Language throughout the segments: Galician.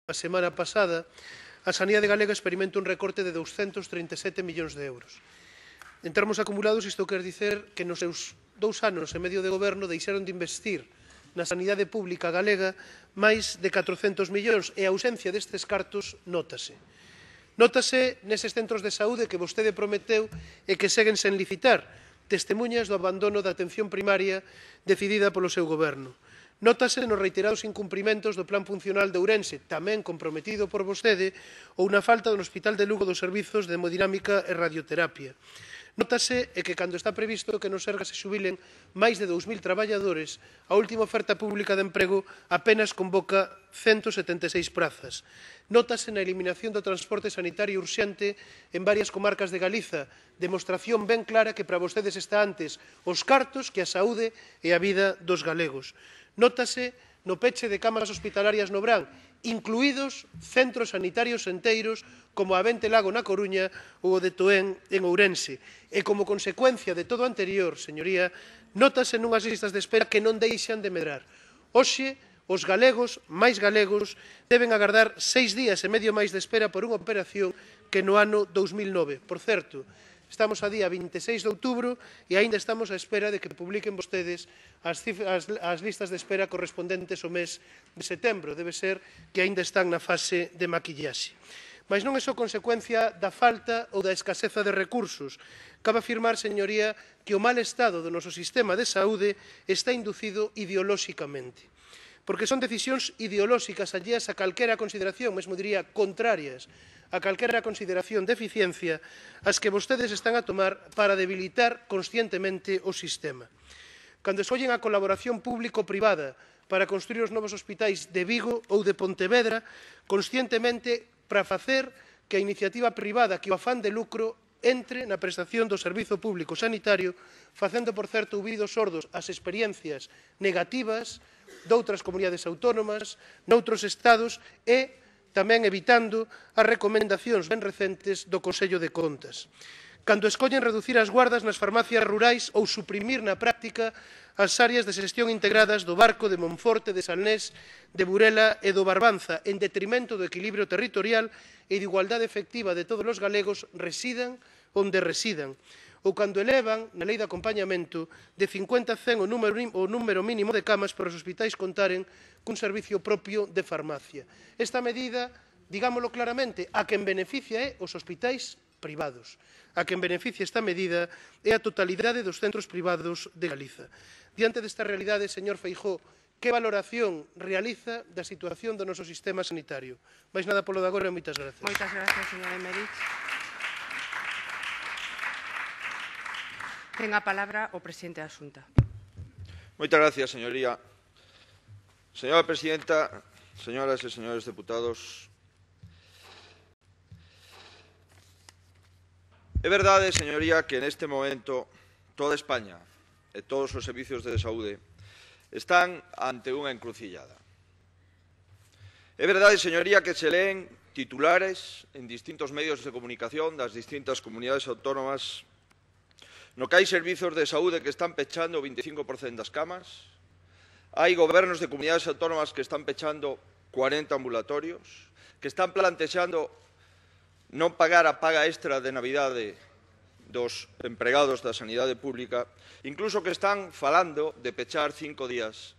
A semana pasada, a sanidade galega experimenta un recorte de 237 millóns de euros. En termos acumulados, isto quer dicer que nos seus 2 anos e medio de goberno deixaron de investir na sanidade pública galega máis de 400 millóns e a ausencia destes cartos nótase. Nótase neses centros de saúde que vostede prometeu e que seguen sen licitar, testemunhas do abandono da atención primaria decidida polo seu goberno. Nótase nos reiterados incumprimentos do Plan Funcional de Ourense, tamén comprometido por vostede, ou na falta do Hospital de Lugo dos servizos de hemodinámica e radioterapia. Nótase que cando está previsto que no Sergas se xubilen máis de 2.000 traballadores, a última oferta pública de emprego apenas convoca 176 prazas. Nótase na eliminación do transporte sanitario urxente en varias comarcas de Galiza, demostración ben clara que para vostedes está antes os cartos que a saúde e a vida dos galegos. Nótase no peche de cámaras hospitalarias no Brán, incluídos centros sanitarios enteiros como a Vente Lago na Coruña ou o de Toén en Ourense. E como consecuencia de todo o anterior, señoría, nótase nunhas listas de espera que non deixan de medrar. Hoxe, os galegos, máis galegos, deben agardar 6 días e medio máis de espera por unha operación que no ano 2009. Por certo, estamos a día 26 de outubro e aínda estamos á espera de que publiquen vostedes as listas de espera correspondentes ao mes de setembro. Debe ser que aínda están na fase de maquillaxe. Mas non é só consecuencia da falta ou da escaseza de recursos. Cabe afirmar, señoría, que o mal estado do noso sistema de saúde está inducido ideolóxicamente. Porque son decisións ideolóxicas alleas a calquera consideración, mesmo diría contrarias, a calquera consideración de eficiencia as que vostedes están a tomar para debilitar conscientemente o sistema. Cando escollen a colaboración público-privada para construir os novos hospitais de Vigo ou de Pontevedra, conscientemente para facer que a iniciativa privada, que o afán de lucro, entre na prestación do servizo público sanitario, facendo, por certo, ouvidos sordos ás experiencias negativas doutras comunidades autónomas, noutros estados e tamén evitando as recomendacións ben recentes do Consello de Contas. Cando escollen reducir as guardas nas farmacias rurais ou suprimir na práctica as áreas de xestión integradas do Barco, de Monforte, de Salnés, de Burela e do Barbanza, en detrimento do equilibrio territorial e de igualdade efectiva de todos os galegos, residan onde residan. Ou cando elevan, na lei de acompañamento, de 50 a 100 o número mínimo de camas para os hospitais contaren cun servicio propio de farmacia. Esta medida, digámoslo claramente, a quen beneficia é os hospitais privados. A quen beneficia esta medida é a totalidade dos centros privados de Galiza. Diante desta realidade, señor Feijóo, que valoración realiza da situación do noso sistema sanitario? Mais nada polo de agora e moitas gracias. Moitas gracias, señor Emerich. Ten a palabra o presidente da Xunta. Moitas gracias, señoría. Señora presidenta, señoras e señores deputados, é verdade, señoría, que neste momento toda España e todos os servizos de saúde están ante unha encrucillada. É verdade, señoría, que se leen titulares en distintos medios de comunicación das distintas comunidades autónomas no que hai servizos de saúde que están pechando o 25% das camas, hai gobernos de comunidades autónomas que están pechando 40 ambulatorios, que están plantexando non pagar a paga extra de Navidade dos empregados da sanidade pública, incluso que están falando de pechar 5 días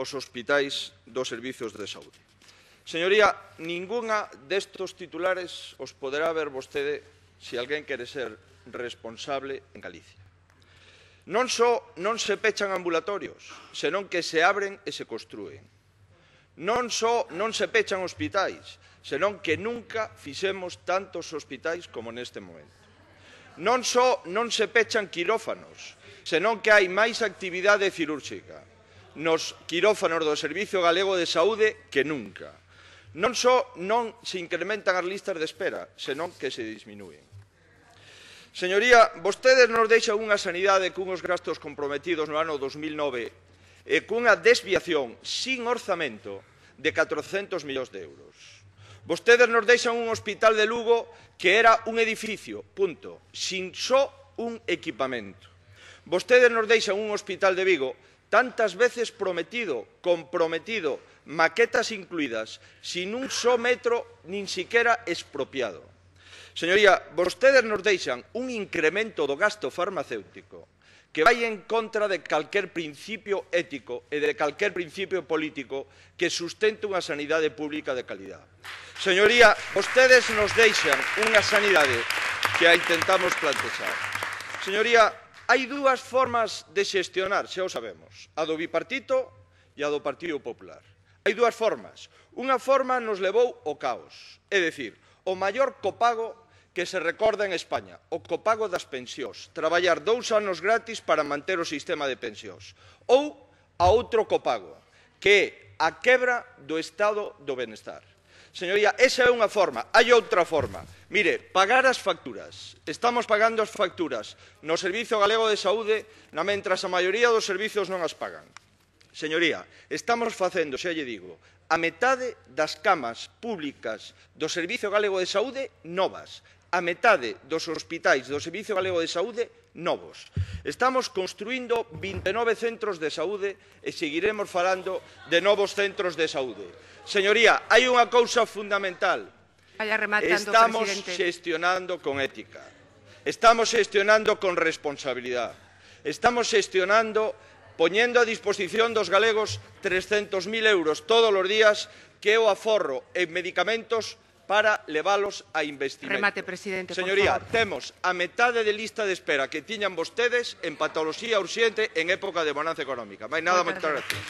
os hospitais dos servizos de saúde. Señoría, ningunha destos titulares os poderá ver vostede se alguén quere ser responsable en Galicia. Non só non se pechan ambulatorios, senón que se abren e se construen. Non só non se pechan hospitais, senón que nunca fixemos tantos hospitais como neste momento. Non só non se pechan quirófanos, senón que hai máis actividade cirúrxica nos quirófanos do Servizo Galego de Saúde que nunca. Non só non se incrementan as listas de espera, senón que se disminúen. Señoría, vostedes nos deixan unha sanidade cunhos gastos comprometidos no ano 2009 e cunha desviación sin orzamento de 400 millóns de euros. Vostedes nos deixan un hospital de Lugo que era un edificio, punto, sin só un equipamento. Vostedes nos deixan un hospital de Vigo tantas veces prometido, comprometido, maquetas incluídas, sin un só metro nin siquiera expropiado. Señoría, vostedes nos deixan un incremento do gasto farmacéutico que vai en contra de calquer principio ético e de calquer principio político que sustente unha sanidade pública de calidad. Señoría, vostedes nos deixan unha sanidade que a intentamos plantear. Señoría, hai dúas formas de xestionar, xa o sabemos, a do bipartito e a do Partido Popular. Hai dúas formas. Unha forma nos levou ao caos, é dicir, o maior copago que se recorda en España, o copago das pensións, traballar 2 anos gratis para manter o sistema de pensións. Ou a outro copago, que é a quebra do estado do benestar. Señoría, esa é unha forma. Hai outra forma. Mire, pagar as facturas. Estamos pagando as facturas no Servizo Galego de Saúde, mentras a maioría dos servizos non as pagan. Señoría, estamos facendo, xa lle digo, a metade das camas públicas do Servizo Galego de Saúde novas. A metade dos hospitais do Servizo Galego de Saúde novos. Estamos construindo 29 centros de saúde e seguiremos falando de novos centros de saúde. Señoría, hai unha cousa fundamental. Estamos xestionando con ética. Estamos xestionando con responsabilidade. Estamos xestionando poñendo a disposición dos galegos 300.000 euros todos os días, que é o aforro en medicamentos para levalos a investimento. Remate, presidente, Señoría, temos a metade de lista de espera que tiñan vostedes en patoloxía urxente en época de bonanza económica. Máis nada, moitas gracias.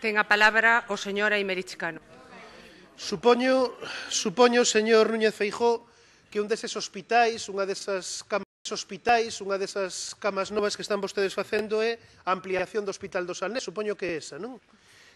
Ten a palabra o señor Aymerich Cano. Supoño, señor Núñez Feijóo, que un deses hospitais, unha desas camas novas que están vostedes facendo é a ampliación do Hospital do Salnés. Supoño que é esa, non?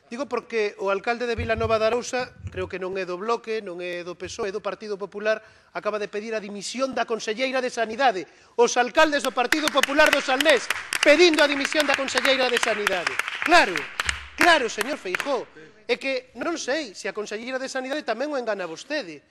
Digo porque o alcalde de Vilanova de Arousa, creo que non é do Bloque, non é do PSOE, é do Partido Popular, acaba de pedir a dimisión da conselleira de Sanidade. Os alcaldes do Partido Popular do Salnés pedindo a dimisión da conselleira de Sanidade. Claro, señor Feijóo, é que non sei se a conselleira de Sanidade tamén o engana vostede.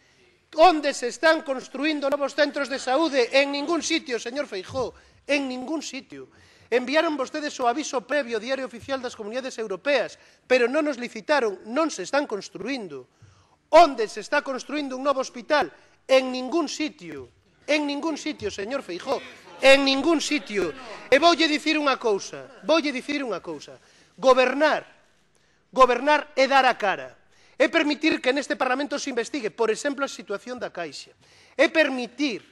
Onde se están construindo novos centros de saúde? En ningún sitio, señor Feijóo, en ningún sitio. Enviaron vostedes o aviso previo ao Diario Oficial das Comunidades Europeas, pero non nos licitaron, non se están construindo. Onde se está construindo un novo hospital? En ningún sitio, señor Feijóo, en ningún sitio. E voulle dicir unha cousa, gobernar é dar a cara, é permitir que neste Parlamento se investigue, por exemplo, a situación da Caixa, é permitir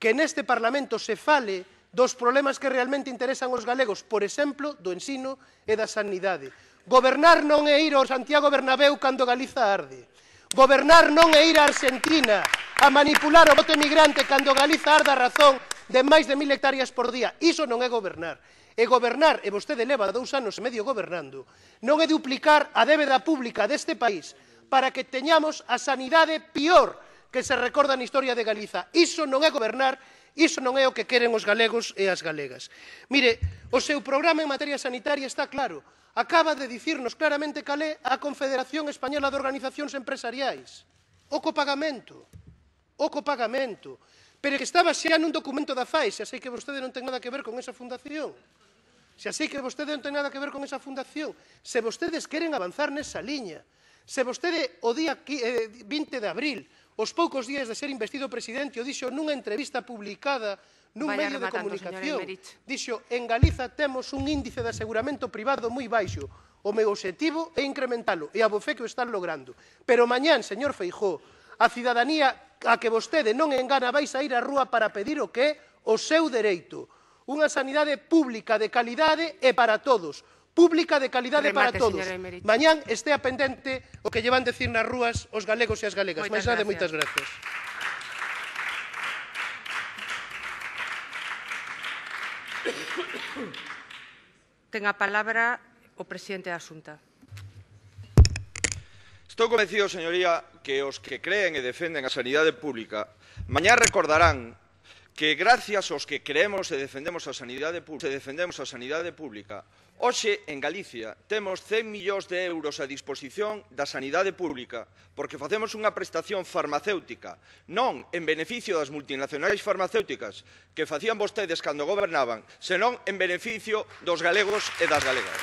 que neste Parlamento se fale dos problemas que realmente interesan aos galegos, por exemplo, do ensino e da sanidade. Gobernar non é ir ao Santiago Bernabéu cando Galiza arde. Gobernar non é ir a Argentina a manipular o voto emigrante cando Galiza arde a razón de máis de 1000 hectáreas por día. Iso non é gobernar. E gobernar, e vostede leva 2 anos e medio gobernando, non é duplicar a débeda pública deste país para que teñamos a sanidade pior que se recorda na historia de Galiza. Iso non é gobernar, iso non é o que queren os galegos e as galegas. Mire, o seu programa en materia sanitaria está claro. Acaba de dicirnos claramente cal é a Confederación Española de Organizacións Empresariais. O copagamento. Pero que estaba xa nun documento da FAE, xa sei que vostede non ten nada que ver con esa fundación. Se vostedes queren avanzar nesa liña, se vostede o día 20 de abril, os poucos días de ser investido presidente, o dixo nunha entrevista publicada nun medio de comunicación, dixo, en Galiza temos un índice de aseguramento privado moi baixo, o meu obxectivo é incrementalo, e a bofé que o están logrando. Pero mañán, señor Feijóo, a cidadanía a que vostede non engana vais a ir á rúa para pedir o que é o seu dereito. Unha sanidade pública de calidade e para todos. Pública de calidade para todos. Mañán estea pendente o que llevan decir nas rúas os galegos e as galegas. Máis nada, moitas gracias. Ten a palabra o presidente da Xunta. Estou convencido, señoría, que os que creen e defenden a sanidade pública mañá recordarán que gracias aos que creemos e defendemos a sanidade pública, hoxe en Galicia temos 100 millóns de euros a disposición da sanidade pública porque facemos unha prestación farmacéutica non en beneficio das multinacionais farmacéuticas que facían vostedes cando gobernaban, senón en beneficio dos galegos e das galegas.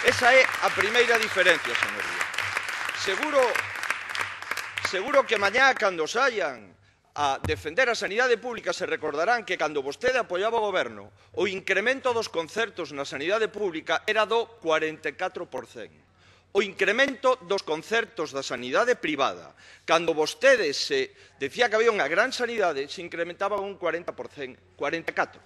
Esa é a primeira diferencia, señoría. Seguro que mañá, cando saian a defender a sanidade pública, se recordarán que cando vostede apoiaba o goberno, o incremento dos concertos na sanidade pública era do 44%. O incremento dos concertos da sanidade privada, cando vostede se decía que había unha gran sanidade, se incrementaba un 40%, 44%.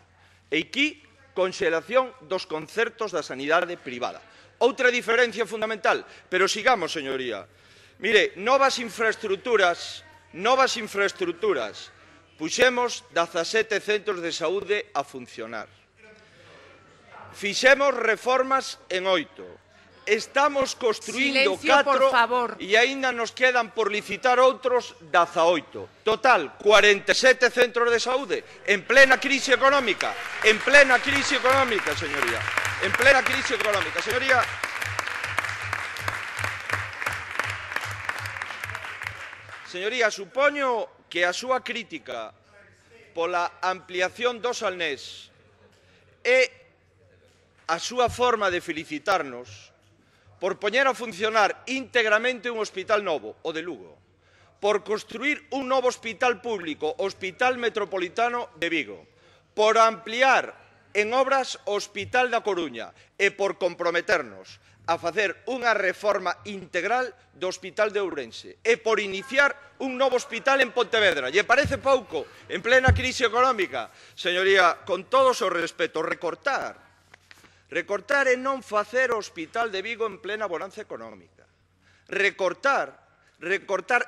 E aquí, conxelación dos concertos da sanidade privada. Outra diferencia fundamental, pero sigamos, señoría. Mire, novas infraestructuras, puxemos 17 centros de saúde a funcionar. Fixemos reformas en 8. Estamos construindo 4 e aínda nos quedan por licitar outros 18. Total, 47 centros de saúde en plena crise económica. Señoría. En plena crise económica. Señoría, supoño que a súa crítica pola ampliación do Salnés é a súa forma de felicitarnos por poñer a funcionar íntegramente un hospital novo, o de Lugo, por construir un novo hospital público, o Hospital Metropolitano de Vigo, por ampliar en obras o Hospital da Coruña e por comprometernos a facer unha reforma integral do Hospital de Ourense e por iniciar un novo hospital en Pontevedra. Lle parece pouco en plena crise económica? Señoría, con todo o seu respeto, recortar é non facer o Hospital de Vigo en plena bonanza económica. Recortar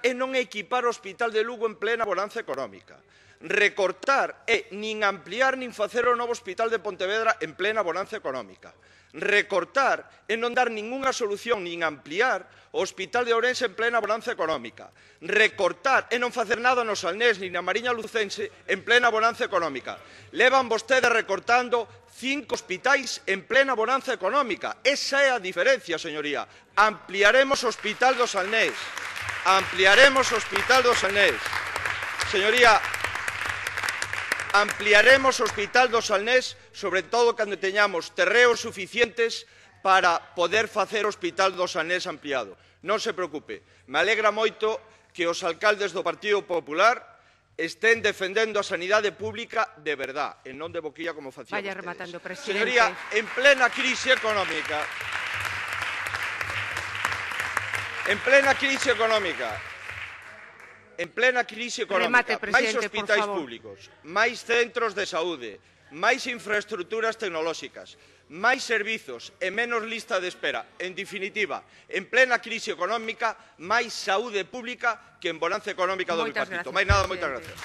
é non equipar o Hospital de Lugo en plena bonanza económica. Recortar é nin ampliar nin facer o novo Hospital de Pontevedra en plena bonanza económica. Recortar é non dar ningunha solución nin ampliar o Hospital de Ourense en plena bonanza económica. Recortar é non facer nada no Salnés nin na Mariña Lucense en plena bonanza económica. Levan vostedes recortando 5 hospitais en plena bonanza económica. Esa é a diferencia, señoría. Ampliaremos o Hospital do Salnés. Señoría, ampliaremos o Hospital do Salnés, sobre todo cando teñamos terreos suficientes para poder facer o Hospital do Salnés ampliado. Non se preocupe, me alegra moito que os alcaldes do Partido Popular estén defendendo a sanidade pública de verdad, e non de boquilla como facían vostedes. Vaya rematando, presidente. Señoría, en plena crise económica, Remate, máis presidente, hospitais públicos, máis centros de saúde, máis infraestructuras tecnolóxicas, máis servizos e menos lista de espera. En definitiva, en plena crise económica, máis saúde pública que en bonanza económica do bipartito. Máis nada, moitas gracias.